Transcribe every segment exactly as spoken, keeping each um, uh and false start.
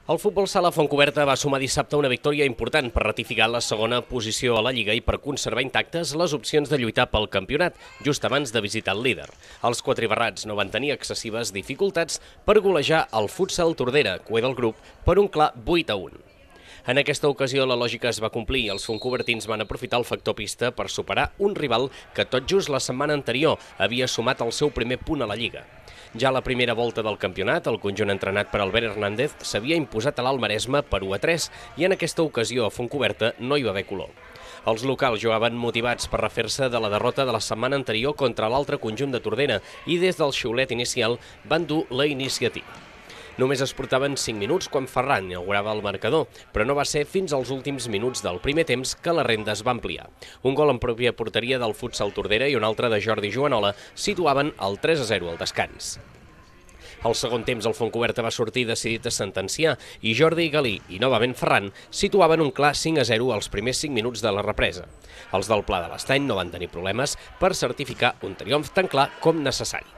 El futbol sala Fontcoberta va sumar dissabte una victòria important per ratificar la segona posició a la Lliga i per conservar intactes les opcions de lluitar pel campionat, just abans de visitar el líder. Els quatribarrats no van tenir excessives dificultats per golejar el Futsal Tordera, cué del grup, per un clar vuit a un. En aquesta ocasió la lògica es va complir i els fontcobertins van aprofitar el factor pista per superar un rival que tot just la setmana anterior havia sumat el seu primer punt a la Lliga. Ja a la primera volta del campionat, el conjunt entrenat per Albert Hernández s'havia imposat a l'Alt Maresme per u a tres i en aquesta ocasió a Fontcoberta no hi va haver color. Els locals jugaven motivats per refer-se de la derrota de la setmana anterior contra l'altre conjunt de Tordera i des del xiulet inicial van dur la iniciativa. Només es portaven cinc minuts quan Ferran inaugurava el marcador, però no va ser fins als últims minuts del primer temps que la renda es va ampliar. Un gol en pròpia porteria del Futsal Tordera i un altre de Jordi Joanola situaven el tres a zero al descans. Al segon temps el Fontcoberta va sortir decidit a sentenciar i Jordi Galí i novament Ferran situaven un clar cinc a zero als primers cinc minuts de la represa. Els del Pla de l'Estany no van tenir problemes per certificar un triomf tan clar com necessari.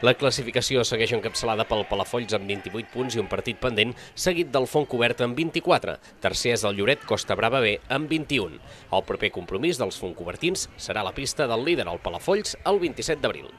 La classificació segueix encapçalada pel Palafolls amb vint-i-vuit punts i un partit pendent, seguit del Fontcoberta amb vint-i-quatre. Tercer és el Lloret Costa Brava B amb vint-i-un. El proper compromís dels fontcobertins serà a la pista del líder, el Palafolls, el vint-i-set d'abril.